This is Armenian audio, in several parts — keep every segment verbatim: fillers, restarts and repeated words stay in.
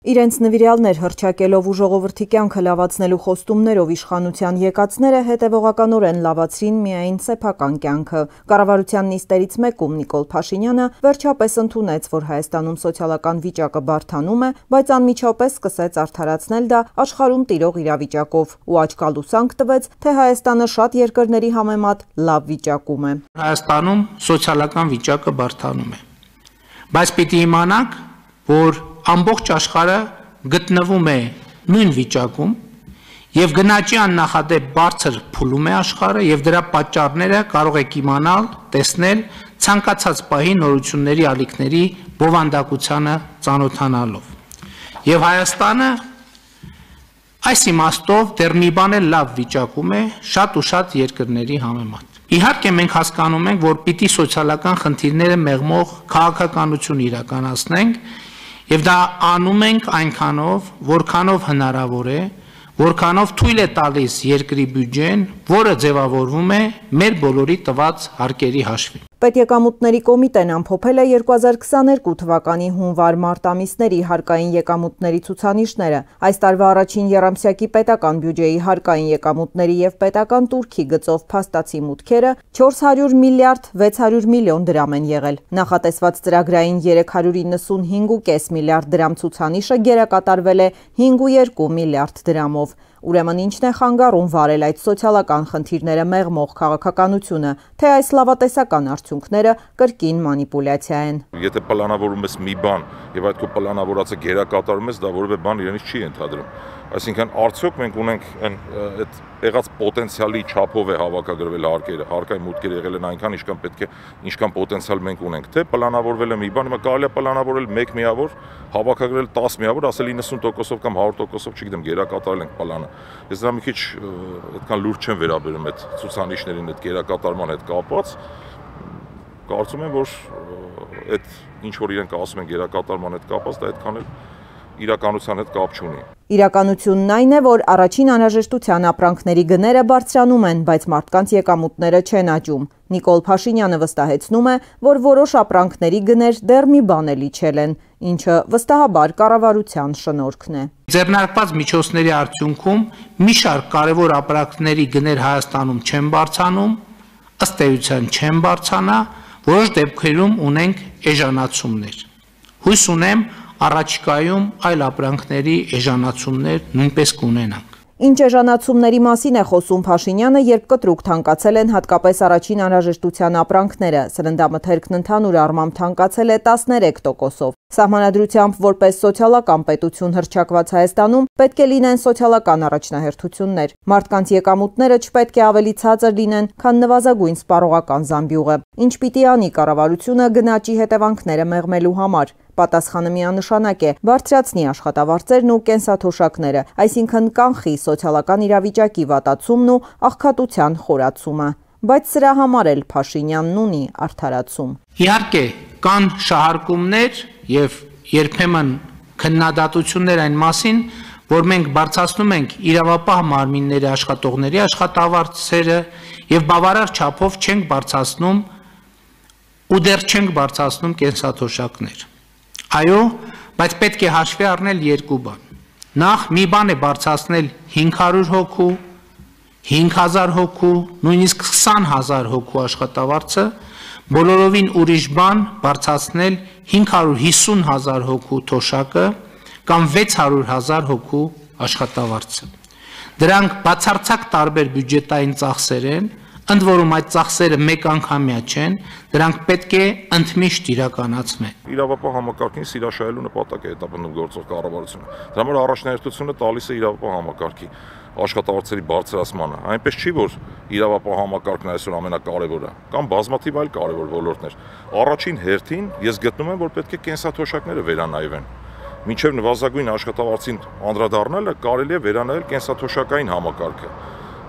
Իրենց նվիրյալներ հռչակելով ու ժողովրդի կյանքը լավացնելու խոստումներով իշխանության եկածները հետևողականորեն լավացրին միայն սեփական կյանքը։ Կառավարության նիստերից մեկում Նիկոլ Փաշինյանը վերջապես ընդունեց, որ Հայաստանում սոցիալական վիճակը բարդանում է, բայց անմիջապես սկսեց արդարացնել դա աշխարհում տիրող իրավիճակով ու աչքալուսանք տվեց, թե Հայաստանը շատ երկրների համեմատ լավ վիճակում է։ Հայաստանում սոցիալական վիճակը բարդանում է, բայց պիտի իմանաք, որ ամբողջ աշխարհը գտնվում է նույն վիճակում եւ գնաճի աննախադեպ բարձր փուլում է աշխարհը եւ դրա պատճառները կարող եք իմանալ, տեսնել ցանկացած պահի նորությունների ալիքների բովանդակությանը ծանոթանալով։ Եվ Հայաստանը այս իմաստով դեռ մի բան էլ լավ վիճակում է շատ ու շատ երկրների համեմատ։ Իհարկե մենք հասկանում ենք, որ պիտի սոցիալական խնդիրները մեղմող քաղաքականություն իրականացնենք Եվ դա անում ենք այնքանով, որքանով հնարավոր է, որքանով թույլ է տալիս երկրի բյուջեն, որը ձևավորվում է մեր բոլորի տված հարկերի հաշվին։ Պետեկամուտների կոմիտեն ամփոփել է երկու հազար քսաներկու թվականի հունվար-մարտ ամիսների հարկային եկամուտների ցուցանիշները։ Այս տարվա առաջին եռամսյակի պետական բյուջեի հարկային եկամուտների եւ պետական տուրքի գծով փաստացի մուտքերը չորս հարյուր միլիարդ վեց հարյուր միլիոն դրամ են եղել։ Նախատեսված ծրագրային երեք հարյուր իննսունհինգ կόμμα պենս միլիարդ դրամ ցուցանիշը գերակատարվել է հինգ կόμma երկու միլիարդ դրամով։ Ուրեմն ինչն է խանգարում վարել այդ սոցիալական խնդիրները մեղմող քաղաքականությունը, թե այս լավատեսական արդյունքները կրկին մանիպուլյացիա են։ Եթե պլանավորում ես մի բան եւ այդ քո պլանավորածը գերակատարում ես, դա որևէ բան իրենից չի ենթադրում։ Այսինքն արդյոք մենք ունենք այդ եղած պոտենցիալի չափով է հավաքագրվել հարկերը, հարկային մուտքերը եղել են այնքան, ինչքան պետք է, ինչքան պոտենցիալ մենք ունենք, թե պլանավորվել է մի բան, հիմա կարելի է պլանավորել մեկ միավոր, հավաքագրել տասը միավոր, ասել իննսուն տոկոսով կամ հարյուր տոկոսով, չգիտեմ, գերակատարել ենք պլանը։ Ես դրա մի քիչ այդքան լուրջ չեմ վերաբերում այդ ցուցանիշներին, այդ գերակատարման հետ կապված։ Կարծում եմ, որ այդ ինչ որ իրենք ասում են գերակատարման հետ կապված, դա այդքան էլ իրականության հետ կապ չունի։ Իրականությունն այն է, որ առաջին անհրաժեշտության ապրանքների գները բարձրանում են, բայց մարդկանց եկամուտները չեն աճում։ Նիկոլ Փաշինյանը վստահեցնում է, որ որոշ ապրանքների գներ դեռ մի բան էլ իջել են, ինչը վստահաբար կառավարության շնորհքն է։ Ձեռնարկված միջոցների արդյունքում մի շարք կարևոր ապրանքների գներ Հայաստանում չեն բարձրանում, ըստ էության չեն բարձրանա, որոշ դեպքերում ունենք էժանացումներ։ Հույս ունեմ առաջիկայում այլ ապրանքների էժանացումներ նույնպես կունենանք։ Ինչ էժանացումների մասին է խոսում Փաշինյանը, երբ կտրուկ թանկացել են հատկապես առաջին անհրաժեշտության ապրանքները, սննդամթերքն ընդհանուր առմամբ թանկացել է տասներեք տոկոսով։ Սահմանադրությամբ որպես սոցիալական պետություն հռչակված Հայաստանում պետք է լինեն սոցիալական առաջնահերթություններ։ Մարդկանց եկամուտները չպետք է ավելի ցածր լինեն, քան նվազագույն սպառողական զամբյուղը։ Ինչ պիտի անի կառավարությունը գնաճի հետևանքները մեղմելու համար։ Պատասխանը միանշանակ է՝ բարձրացնի աշխատավարձերն ու կենսաթոշակները, այսինքն կանխի սոցիալական իրավիճակի վատացումն ու աղքատության խորացումը։ Բայց սրա համար էլ Փաշինյանն ունի արդարացում։ Իհարկե, կան շահարկումներ եւ երբեմն քննադատություններ այն մասին, որ մենք բարձրացնում ենք իրավապահ մարմինների աշխատողների աշխատավարձերը եւ բավարար չափով չենք բարձրացնում ու դեռ չենք բարձրացնում կենսաթոշակներ։ Այո, բայց պետք է հաշվի առնել երկու բան։ Նախ մի բան է բարձրացնել հինգ հարյուր հոգու, հինգ հազար հոգու, նույնիսկ քսան հազար հոգու աշխատավարձը, բոլորովին ուրիշ բան բարձրացնել հինգ հարյուր հիսուն հազար հոգու թոշակը կամ վեց հարյուր հազար հոգու աշխատավարձը։ Դրանք բացարձակ տարբեր բյուջետային ծախսեր են, ընդ որում այդ ծախսերը մեկ անգամյա չեն, դրանք պետք է ընդմիշտ իրականացվեն։ Իրավապահ համակարգին սիրաշահելու նպատակ է հետապնդում գործող կառավարությունը։ Դրա համար առաջնահերթությունը տալիս է իրավապահ համակարգի աշխատավարձերի բարձրացմանը։ Այնպես չի, որ իրավապահ համակարգն այսօր ամենակարևորը, կամ բազմաթիվ այլ կարևոր ոլորտներ։ Առաջին հերթին ես գտնում եմ, որ պետք է կենսաթոշակները վերանայվեն։ Մինչև նվազագույն աշխատավարձին անդրադառնալը կարելի է վերանայել կենսաթոշակային համակարգը։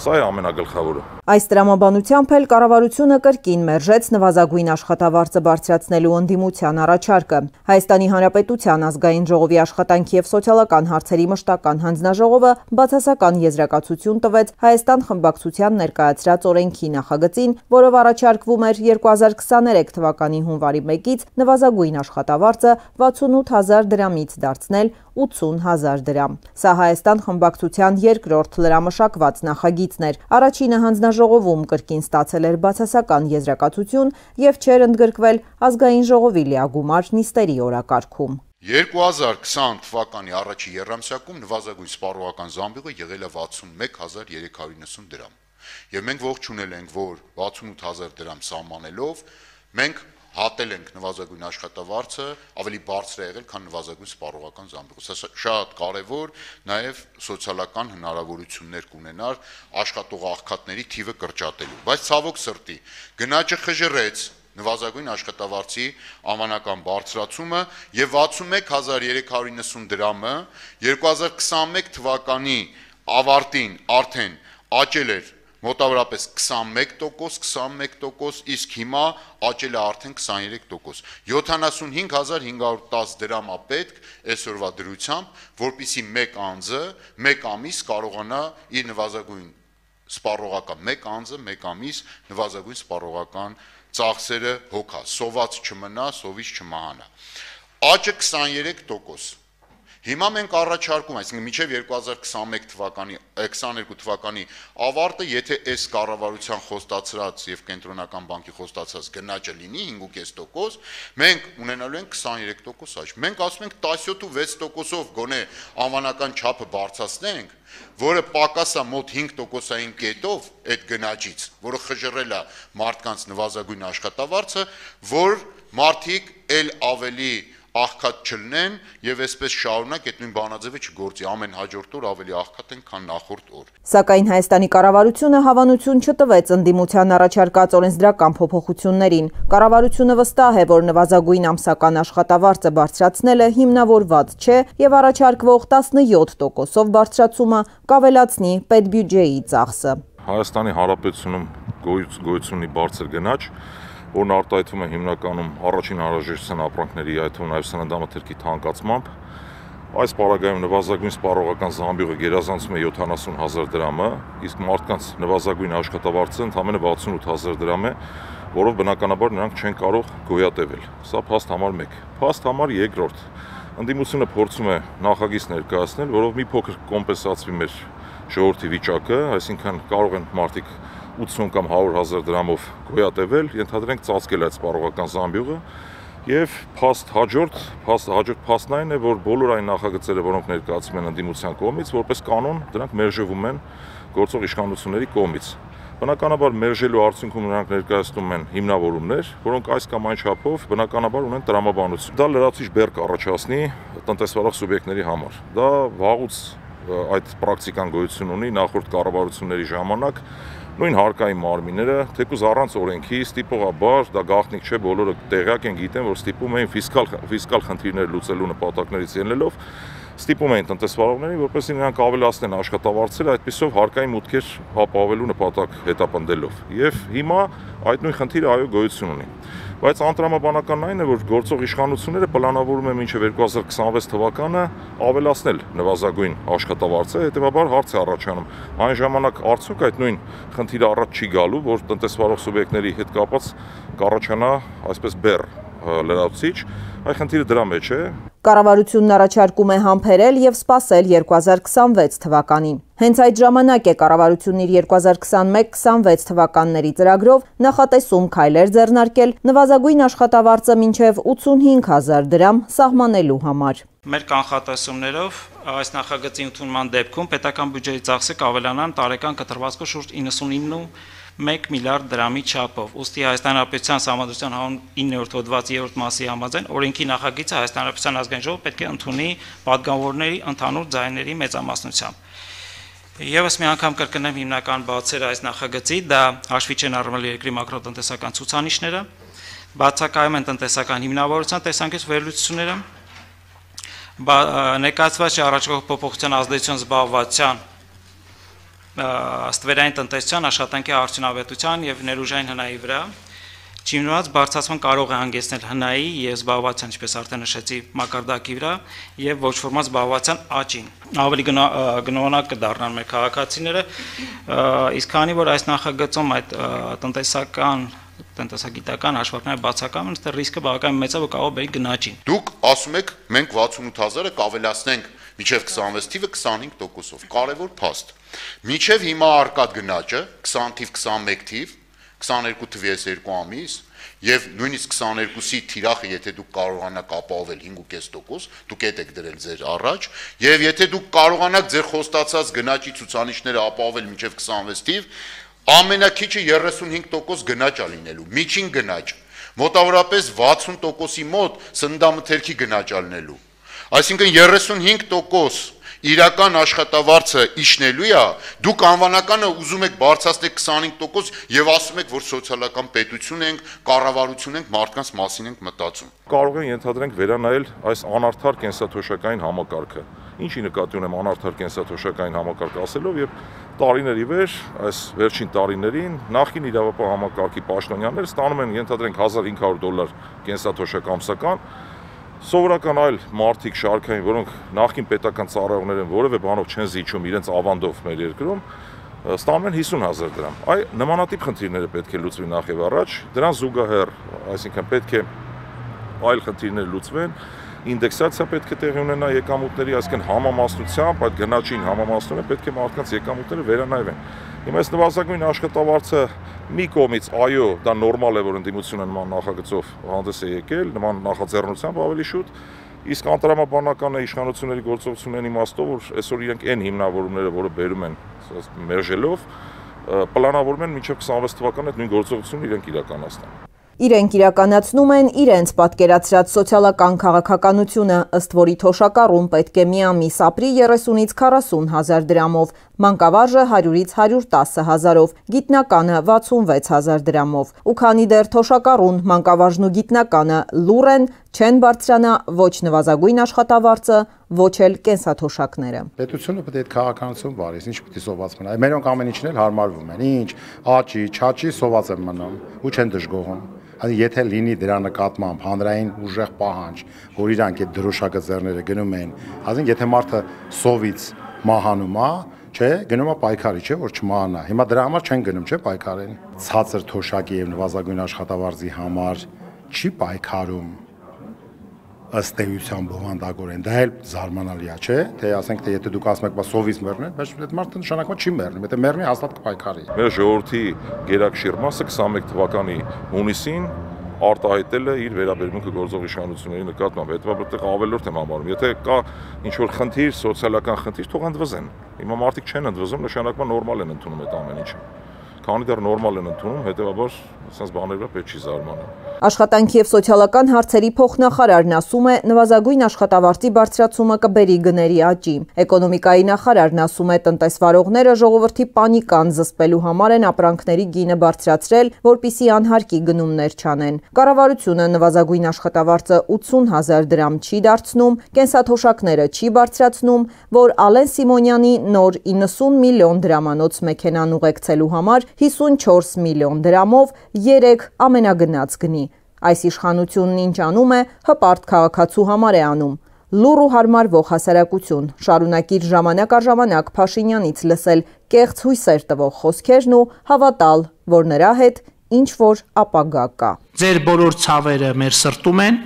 Սա է ամենագլխավորը։ Այս տրամաբանությամբ էլ կառավարությունը կրկին մերժեց նվազագույն աշխատավարձը բարձրացնելու ընդդիմության առաջարկը։ Հայաստանի Հանրապետության ազգային ժողովի աշխատանքի և սոցիալական հարցերի մշտական հանձնաժողովը բացասական եզրակացություն տվեց Հայաստան խմբակցության ներկայացրած օրենքի նախագծին, որով առաջարկվում էր երկու հազար քսաներեք թվականի հունվարի մեկից նվազագույն աշխատավարձը վաթսունութ հազար դրամից դարձնել ութսուն հազար դրամ։ Սա Հայաստան խմբակցության երկրորդ լրամշակված նախագիծն էր։ Առաջինը հանձնաժողովում կրկին ստացել էր բացասական եզրակացություն և չէր ընդգրկվել ազգային ժողովի լիագումար նիստերի օրակարգում։ երկու հազար քսան թվականի առաջի եռամսյակում նվազագույն սպառողական զամբյուղը եղել է վաթսունմեկ հազար երեք հարյուր նվսուն դրամ։ Եվ մենք ողջունել ենք, որ վաթսունութ հազար դրամ սահմանելով մենք հատել ենք նվազագույն աշխատավարձը ավելի բարձր է եղել, քան նվազագույն սպառողական զամբյուղը։ Սա շատ կարևոր նաև սոցիալական հնարավորություններ կունենար աշխատող աղքատների թիվը կրճատելու։ Բայց ցավոք սրտի գնաճը խժռեց նվազագույն աշխատավարձի անվանական բարձրացումը եւ վաթսունմեկ հազար երեք հարյուր նվսուն դրամը երկու հազար քսանմեկ թվականի ավարտին արդեն աճել էր մոտավորապես քսանմեկ տոկոս, քսանմեկ տոկոս, իսկ հիմա աճել է արդեն քսաներեք տոկոս։ յոթանասունհինգ հազար հինգ հարյուր տասը դրամ է պետք այսօրվա դրությամբ, որպեսզի մեկ անձը մեկ ամիս կարողանա իր նվազագույն սպառողական մեկ անձը մեկ ամիս նվազագույն սպառողական ծախսերը հոգա, սոված չմնա, սովից չմահանա։ Աճը քսաներեք տոկոս։ Հիմա մենք առաջարկում, այսինքն մինչև երկու հազար քսանմեկ թվականի, քսաներկու թվականի ավարտը, եթե այս կառավարության խոստացրած եւ կենտրոնական բանկի խոստացած գնաճը լինի հինգ ու կես տոկոս, մենք ունենալու ենք քսաներեք տոկոս աճ։ Մենք ասում ենք տասնյոթ ու վեց տոկոսով գոնե անվանական չափը բարձրացնենք, որը պակաս է մոտ հինգ տոկոսային կետով այդ գնաճից, որը խժռել է մարդկանց նվազագույն աշխատավարձը, որ մարդիկ էլ ավելի աղքատ չլնեն եւ այսպես շարունակ այդ նույն բանաձևը չգործի, ամեն հաջորդ օր ավելի աղքատ են, քան նախորդ օր։ Սակայն Հայաստանի կառավարությունը հավանություն չտվեց ընդդիմության առաջարկած օրենսդրական փոփոխություններին։ Կառավարությունը վստահ է, որ նվազագույն ամսական աշխատավարձը բարձրացնելը հիմնավորված չէ եւ առաջարկվող տասնյոթ տոկոսով բարձրացումը կավելացնի պետբյուջեի ծախսը։ Հայաստանի Հանրապետությունում գոյություն ունի բարձր գնաճ, որն արտահայտվում է հիմնականում առաջին անհրաժեշտության ապրանքների, այդ թվում նաև սննդամթերքի թանկացմամբ։ Այս պարագայում նվազագույն սպառողական զամբյուղը գերազանցում է յոթանասուն հազար դրամը, իսկ մարդկանց նվազագույն աշխատավարձը ընդամենը վաթսունութ հազար դրամ է, որով բնականաբար նրանք չեն կարող գոյատևել։ Սա փաստ համար մեկ։ Փաստ համար երկրորդ։ Ընդդիմությունը փորձում է նախագիծ ներկայացնել, որով մի փոքր կոմպենսացվի մեր ժողովրդի վիճակը, այսինքն կարող են մարդիկ ութսուն կամ հարյուր հազար դրամով գոյատևել, ենթադրենք ծածկել այդ սպառողական զամբյուղը եւ փաստ հաջորդ, փաստ հաջորդ փաստն այն է, որ բոլոր այն նախագծերը, որոնք ներկայացվում են ընդդիմության կողմից, որպես կանոն դրանք մերժվում են գործող իշխանությունների կողմից։ Բնականաբար մերժելու արդյունքում նրանք ներկայացնում են հիմնավորումներ, որոնք այս կամ այն չափով բնականաբար ունեն տրամաբանություն։ Դա լրացուցիչ բեռ կառաջացնի տնտեսվարող սուբյեկտների համար։ Դա վաղուց այդ պրակտիկան գոյություն ունի նախորդ կառավարությունների ժամանակ։ Նույն հարկային մարմինները, թեկուզ առանց օրենքի, ստիպողաբար, դա գաղտնիք չէ, բոլորը տեղյակ են, գիտեն, որ ստիպում էին ֆիսկալ ֆիսկալ խնդիրներ լուծելու նպատակներից ելնելով, ստիպում էին տնտեսվարողներին, որպեսզի նրանք ավելացնեն աշխատավարձերը, այդպիսով հարկային մուտքեր ապահովելու նպատակ հետապնդելով։ Եվ հիմա այդ նույն խնդիրը այո գոյություն ունի։ Բայց անտրամաբանականն այն է, որ գործող իշխանությունները պլանավորում են մինչև երկու հազար քսանվեց թվականը ավելացնել նվազագույն աշխատավարձը, հետևաբար հարց է առաջանում, այն ժամանակ արդյոք այդ նույն խնդիրը առաջ չի գալու, որ տնտեսվարող սուբյեկտների հետ կապած կառաջանա այսպես բեռ լրացուցիչ, այ խնդիրը դրա մեջ է։ Կառավարությունն առաջարկում է համբերել եւ սպասել երկու հազար քսանվեց թվականին։ Հենց այդ ժամանակ է կառավարությունն իր երկու հազար քսանմեկ քսանվեց թվականների ծրագրով նախատեսում քայլեր ձեռնարկել նվազագույն աշխատավարձը մինչև ութսունհինգ հազար դրամ սահմանելու համար։ Մեր կանխատեսումներով այս նախագծի ընդունման դեպքում պետական բյուջեի ծախսը կավելանան տարեկան կտրվածքով շուրջ իննսունինը մեկ միլիարդ դրամի չափով։ Ուստի Հայաստան Հանրապետության Սահմանադրության իններորդ հոդվածի երրորդ մասի համաձայն օրենքի նախագիծը Հայաստան Հանրապետության ազգային ժողովը պետք է ընդունի պատգամավորների ընդհանուր ձայների մեծամասնությամբ։ Եվս մի անգամ կրկնեմ հիմնական բացերը այս նախագծի, դա հաշվի չեն առնվել երկրի մակրոտնտեսական ցուցանիշները, բացակայում են տնտեսական հիմնավորության տեսանկյունից վերլուծությունները, ներկայացված չի առաջարկող փոփոխության ազդեցություն զբաղվածության ստվերային տնտեսության, աշխատանքի արդյունավետության եւ ներուժային հնայի վրա։ Չիմնված բարձրացման կարող է հանգեցնել հնայի եւ զբաղվածության, ինչպես արդեն նշեցի, մակարդակի վրա եւ ոչ ֆորմալ զբաղվածության աճին։ Ավելի գնովանակ կդառնան մեր քաղաքացիները, իսկ քանի որ այս նախագծում այդ տնտեսական տնտեսագիտական հաշվարկները բացակայում են, այստեղ ռիսկը բավականին մեծ է, որ կարող է բերի գնաճին։ Դուք ասում եք, մենք վաթսունութ հազարը կավելացնենք մինչև քսանվեց թիվը քսանհինգ տոկոսով։ Կարևոր փաստ։ Մինչև հիմա արկած գնաճը քսան թիվ, քսանմեկ թիվ, քսաներկու թվի այս երկու ամիս եւ նույնիսկ քսաներկուսի թիրախը, եթե դուք կարողանաք ապահովել հինգ ու կես տոկոս, դուք եք եք դրել ձեր առաջ, եւ եթե դուք կարողանաք ձեր խոստացած գնաճի ցուցանիշները ապահովել մինչև քսանվեց թիվ, ամենակիչը երեսունհինգ տոկոս գնաճ է լինելու, միջին գնաճ, մոտավորապես վաթսուն տոկոսի մոտ սննդամթերքի գնաճ է լինելու։ Այսինքն երեսունհինգ տոկոս իրական աշխատավարձը իջնելու է, դուք անվանականը ուզում եք բարձրացնել քսանհինգ տոկոս եւ ասում եք, որ սոցիալական պետություն ենք, կառավարություն ենք, մարդկանց մասին ենք մտածում։ Կարող են ենթադրենք վերանայել այս անարդար կենսաթոշակային համակարգը։ Ինչի նկատի ունեմ անարդար կենսաթոշակային համակարգ ասելով, եւ տարիների վեր, այս վերջին տարիներին նախին իրավապահ համակարգի պաշտոնյաները ստանում են ենթադրենք հազար հինգ հարյուր դոլար կենսաթոշակ ամսական, սովորական այլ մարդիկ շարքային, որոնք նախին պետական ծառայողներ են, որևէ բանով չեն զիջում իրենց ավանդով մեր երկրում, ստանում են հիսուն հազար դրամ։ Այ նմանատիպ խնդիրները պետք է լուծվի նախ եւ առաջ, դրան զուգահեռ, այսինքն պետք է այլ խնդիրներ լուծվեն, ինդեքսացիա պետք է տեղի ունենա եկամուտների, այսինքն համամասնությամբ, այդ գնաճին համամասնությունը պետք է մարդկանց եկամուտները վերանայվեն։ Հիմա այս նվազագույն աշխատավարձը մի կողմից այո, դա նորմալ է, որ ընդդիմությունը նման նախագծով հանդես է եկել, նման նախաձեռնությամբ ավելի շուտ, իսկ անտրամաբանական իշխանությունների գործողությունների իմաստով, որ այսօր իրենք այն հիմնավորումները, որը բերում են մերժելով, պլանավորում են մինչև քսանվեց թվականը այդ նույն գործողությունները իրենք իրականացնեն։ Իրենք իրականացնում են իրենց պատկերացրած սոցիալական քաղաքականությունը, ըստ որի թոշակառուն պետք է մի ամիս ապրի երեսունից քառասուն հազար դրամով, մանկավարժը հարյուրից հարյուր տասը հազարով, գիտնականը վաթսունվեց հազար դրամով։ Ու քանի դեռ թոշակառուն, մանկավարժն ու գիտնականը լուռ են, չեն բարձրանա ոչ նվազագույն աշխատավարձը, ոչ էլ կենսաթոշակները։ Պետությունը պետք է այդ քաղաքականություն վարի, ինչ պետք է սոված մնա։ Մերոնք ամեն ինչն էլ հարմարվում են, ինչ, աճի, չաճի սոված են մնում ու չեն դժգոհում։ Եթե լինի դրա նկատմամբ հանրային ուժեղ պահանջ, որ իրանք այդ դրոշակը ձեռները գնում են, ասենք եթե մարդը սովից մահանում է, չէ, գնում է պայքարի, չէ, որ չմահանա։ Հիմա դրա համար չեն գնում, չէ, պայքարեն։ Ցածր թոշակի եւ նվազագույն աշխատավարձի համար չի պայքարում ըստ էության բովանդակորեն, դա էլ զարմանալի է, չէ, թե ասենք թե եթե դուք ասում եք, բա սովից մեռնել, բայց այդ մարդը նշանակում չի մեռնում, եթե մեռնի հաստատ կպայքարի։ Մեր ժողովրդի գերակշիռ մասը քսանմեկ թվականի հունիսին արտահայտել է իր վերաբերմունքը գործող իշխանությունների նկատմամբ, հետո ավելորդ եմ համարում, եթե կա ինչ-որ խնդիր, սոցիալական խնդիր, թող ընդվզեն։ Հիմա մարդիկ չեն ընդվզում, նշանակում նորմալ են ընդունում այդ ամեն ինչը։ Քանի դեռ նորմալ են ընդունում, հետեւաբար ասես բաներով պետք չի զարմանալ։ Աշխատանքի եւ սոցիալական հարցերի փոխնախարարն ասում է, նվազագույն աշխատավարձի բարձրացումը կբերի գների աճի։ Էկոնոմիկայի նախարարն ասում է, տնտեսվարողները ժողովրդի պանիկան զսպելու համար են ապրանքների գինը բարձրացրել, որպիսի անհարկի գնումներ չանեն։ Կառավարությունը նվազագույն աշխատավարձը ութսուն հազար դրամ չի դարձնում, կենսաթոշակները չի բարձրացնում, որ Ալեն Սիմոնյանի նոր իննսուն միլիոն դրամանոց մեքենան ուղեկցելու համար հիսունչորս միլիոն դրամով երեք ամենագնաց գնի։ Այս իշխանությունն ինչ անում է, հպարտ քաղաքացու համար է անում։ Լուռ ու հարմարվող հասարակություն, շարունակիր ժամանակ առ ժամանակ Փաշինյանից լսել կեղծ հույսեր տվող խոսքերն ու հավատալ, որ նրա հետ ինչ-որ ապագա կա։ Ձեր բոլոր ցավերը մեր սրտում են,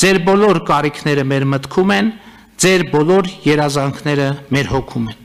ձեր բոլոր կարիքները մեր մտքում են, ձեր բոլոր երազանքները մեր հոգում են։